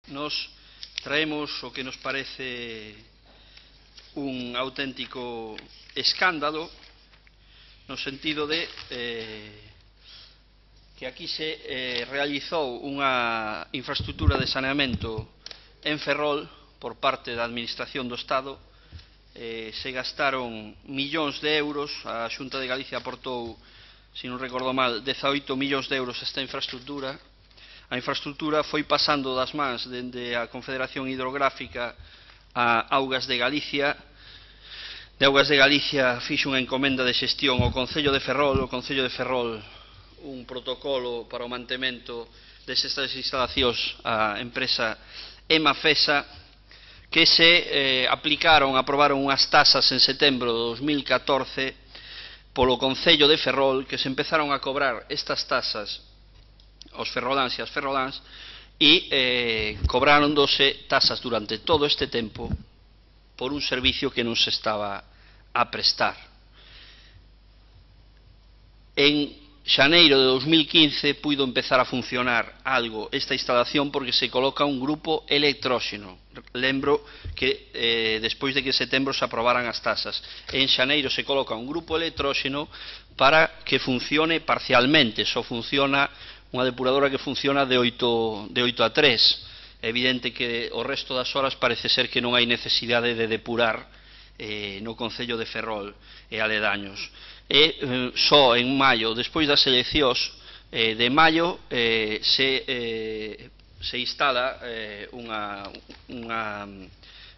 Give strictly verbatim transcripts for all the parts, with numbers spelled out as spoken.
nos traemos o que nos parece un auténtico escándalo no sentido de eh, que aquí se eh, realizou unha infraestructura de saneamento en Ferrol por parte da Administración do Estado. Eh, se gastaron millóns de euros, a Xunta de Galicia aportou, se non recordo mal, dezaoito millóns de euros esta infraestructura. A infraestructura foi pasando das mans dende a Confederación Hidrográfica a Augas de Galicia. De Augas de Galicia fixo unha encomenda de xestión ao Concello de Ferrol, o Concello de Ferrol un protocolo para o mantemento destas instalacións á empresa Emafesa, que se eh, aplicaron, aprobaron unhas tasas en setembro de dos mil catorce polo Concello de Ferrol, que se empezaron a cobrar estas tasas aos ferroláns e as ferroláns e eh, cobrándose tasas durante todo este tempo por un servicio que non se estaba a prestar. En xaneiro de dos mil quince puido empezar a funcionar algo esta instalación porque se coloca un grupo electróxeno. Lembro que eh, despois de que en setembro se aprobaran as tasas, en xaneiro se coloca un grupo electróxeno para que funcione parcialmente. Só funciona unha depuradora que funciona de oito a tres. É evidente que o resto das horas parece ser que non hai necesidade de depurar eh, no Concello de Ferrol e aledaños. E eh, só en maio, despois das eleccións eh, de maio, eh, se, eh, se instala eh, unha, unha,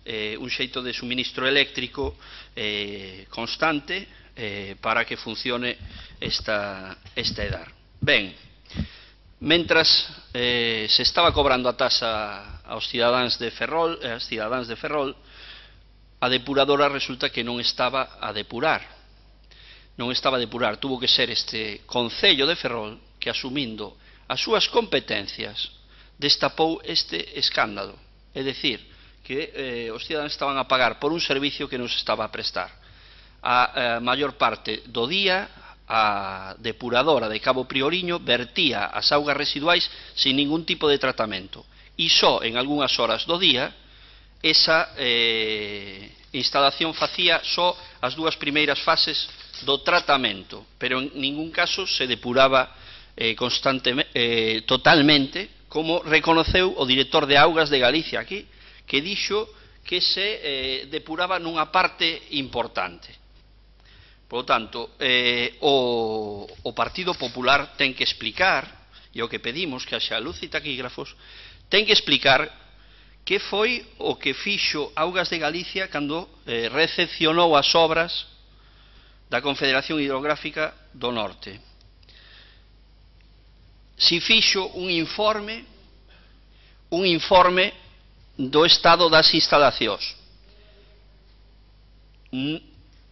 eh, un xeito de suministro eléctrico eh, constante eh, para que funcione esta, esta edar. Ben, mentras eh, se estaba cobrando a tasa aos cidadáns de Ferrol, eh, as cidadáns de Ferrol, a depuradora resulta que non estaba a depurar. Non estaba a depurar, tuvo que ser este Concello de Ferrol que, asumindo as súas competencias, destapou este escándalo. É dicir, que eh, os cidadáns estaban a pagar por un servicio que non se estaba a prestar. A, a maior parte do día, a depuradora de Cabo Prioriño vertía as augas residuais sin ningún tipo de tratamento. E só en algunhas horas do día, esa eh, instalación facía só as dúas primeiras fases do tratamento, pero en ningún caso se depuraba eh, constantemente, eh, totalmente, como reconoceu o director de Augas de Galicia aquí, que dixo que se eh, depuraba nunha parte importante. Por lo tanto, eh, o, o Partido Popular ten que explicar, e o que pedimos que haxa luz e taquígrafos, ten que explicar que foi o que fixo Augas de Galicia cando eh, recepcionou as obras da Confederación Hidrográfica do Norte. Si fixo un informe, un informe do estado das instalacións.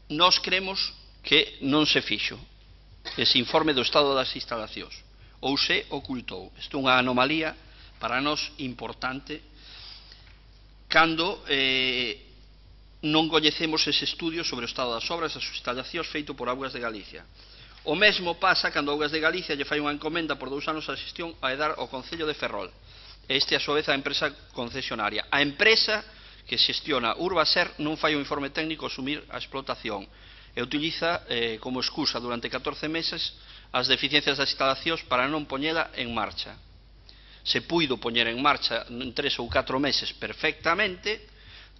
Nós cremos que non se fixo ese informe do estado das instalacións, ou se ocultou. Isto é unha anomalía para nós importante cando eh, non coñecemos ese estudio sobre o estado das obras das instalacións feito por Augas de Galicia. O mesmo pasa cando Augas de Galicia lle fai unha encomenda por dous anos a xestión a Edar ao Concello de Ferrol. Este, a súa vez, a empresa concesionaria. A empresa que xestiona Urbaser non fai un informe técnico asumir a explotación e utiliza eh, como excusa durante catorce meses as deficiencias das instalacións para non poñela en marcha. Se puido poñer en marcha en tres ou catro meses perfectamente,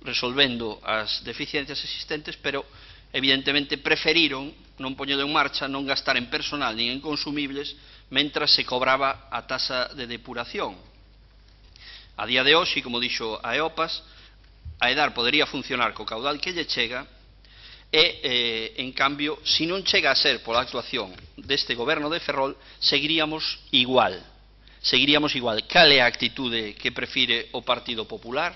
resolvendo as deficiencias existentes, pero evidentemente preferiron non poñelo en marcha, non gastar en personal nin en consumibles, mentras se cobraba a tasa de depuración. A día de hoxe, como dixo a EOPAS, a Edar podería funcionar co caudal que lle chega e, eh, en cambio, se non chega a ser pola actuación deste goberno de Ferrol, seguiríamos igual. Seguiríamos igual. Cal é a actitude que prefire o Partido Popular?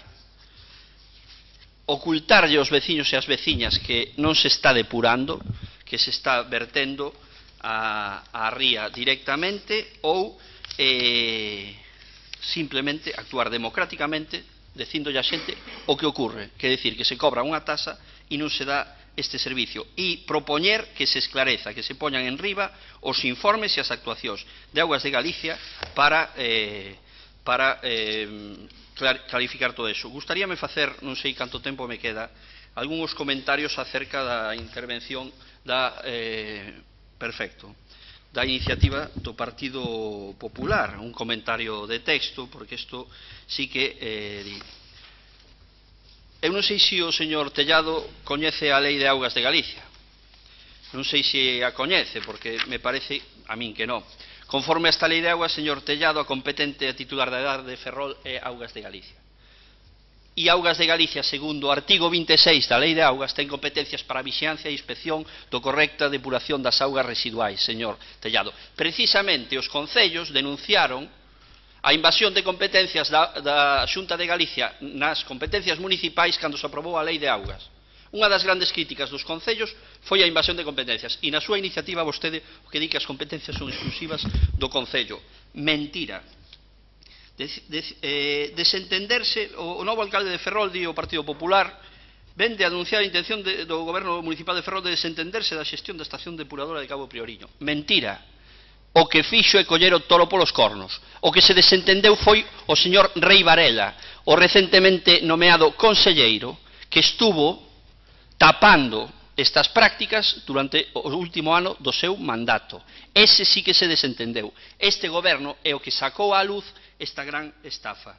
Ocultarlle aos veciños e as veciñas que non se está depurando, que se está vertendo a, a ría directamente, ou eh, simplemente actuar democráticamente dicindolle a xente o que ocurre, que é dicir, que se cobra unha tasa e non se dá este servicio, e propoñer que se esclareza, que se poñan en riba os informes e as actuacións de Augas de Galicia para, eh, para eh, clarificar todo eso. Gustaríame facer, non sei canto tempo me queda, algúns comentarios acerca da intervención da eh, perfecto da iniciativa do Partido Popular, un comentario de texto, porque isto sí que eh, di. Eu non sei se o señor Tellado coñece a Lei de Augas de Galicia. Non sei se a coñece, porque me parece a min que non. Conforme a esta Lei de Augas, señor Tellado, a competente a titular da edad de Ferrol é Augas de Galicia. E Augas de Galicia, segundo o artigo vinte e seis da Lei de Augas, ten competencias para a vixiancia e inspección do correcta depuración das augas residuais, señor Tellado. Precisamente os concellos denunciaron a invasión de competencias da, da Xunta de Galicia nas competencias municipais cando se aprobou a Lei de Augas. Unha das grandes críticas dos concellos foi a invasión de competencias, e na súa iniciativa vostede o que di que as competencias son exclusivas do concello. Mentira. De, de, eh, desentenderse, o, o novo alcalde de Ferrol, di o Partido Popular, vende a denunciar a intención de, do goberno municipal de Ferrol de desentenderse da xestión da estación depuradora de Cabo Prioriño. Mentira. O que fixo é coller o toro polos cornos. O que se desentendeu foi o señor Rei Varela, o recentemente nomeado conselleiro, que estuvo tapando estas prácticas durante o último ano do seu mandato. Ese sí que se desentendeu. Este goberno é o que sacou á luz esta gran estafa.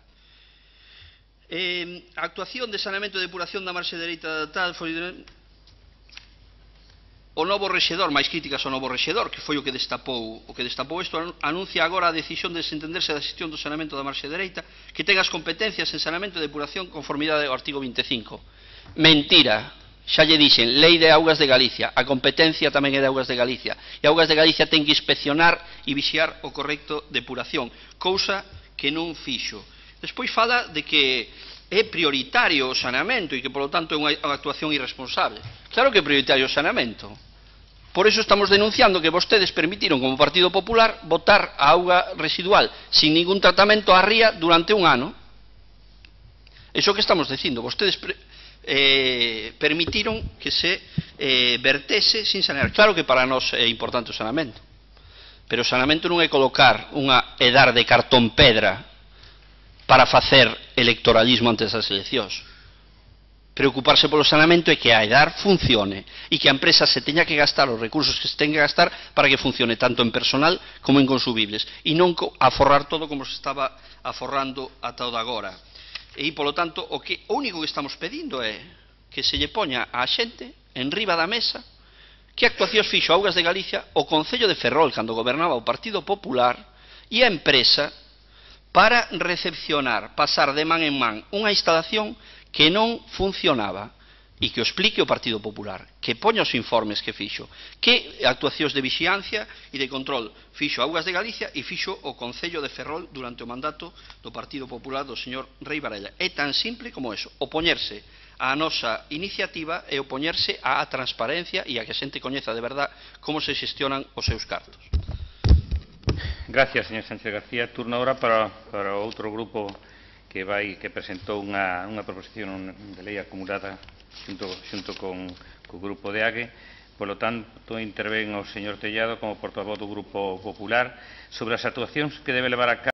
Eh, a actuación de saneamento e depuración da marxe dereita tal foi o novo rexedor, máis críticas ao novo rexedor, que foi o que destapou o que destapou isto, anuncia agora a decisión de desentenderse da xestión do saneamento da marxe dereita, que ten as competencias en saneamento e depuración conformidade ao artigo vinte e cinco. Mentira. Xa lle dixen, Lei de Augas de Galicia, a competencia tamén é de Augas de Galicia, e Augas de Galicia ten que inspeccionar e vixiar o correcto depuración, cousa que non fixo. Despois fala de que é prioritario o saneamento e que, polo tanto, é unha actuación irresponsable. Claro que é prioritario o saneamento. Por eso estamos denunciando que vostedes permitiron, como Partido Popular, botar a auga residual sin ningún tratamento á ría durante un ano. Iso que estamos dicindo, vostedes Eh, permitiron que se eh, vertese sin sanear. Claro que para nós é importante o saneamento, pero o saneamento non é colocar unha edar de cartón pedra para facer electoralismo antes das eleccións. Preocuparse polo saneamento é que a edar funcione e que a empresa se teña que gastar os recursos que se teña que gastar para que funcione tanto en personal como en consumibles, e non aforrar todo como se estaba aforrando ata o de agora. E, polo tanto, o, que, o único que estamos pedindo é que se lle poña á xente en riba da mesa que actuacións fixo Augas de Galicia, o Concello de Ferrol, cando gobernaba o Partido Popular, e a empresa para recepcionar, pasar de man en man unha instalación que non funcionaba, e que o explique o Partido Popular, que poña os informes que fixo, que actuacións de vixiancia e de control fixo Augas de Galicia e fixo o Concello de Ferrol durante o mandato do Partido Popular do señor Rei Varela. É tan simple como eso, opoñerse á nosa iniciativa e opoñerse á transparencia e a que a xente coñeza de verdad como se xestionan os seus cartos. Gracias, señor Sánchez García. Turno ahora para, para outro grupo que vai que presentou unha, unha proposición de lei acumulada xunto, xunto con, co grupo de A G E. Por lo tanto, intervén o señor Tellado como portavoz do Grupo Popular sobre as actuacións que debe levar a cabo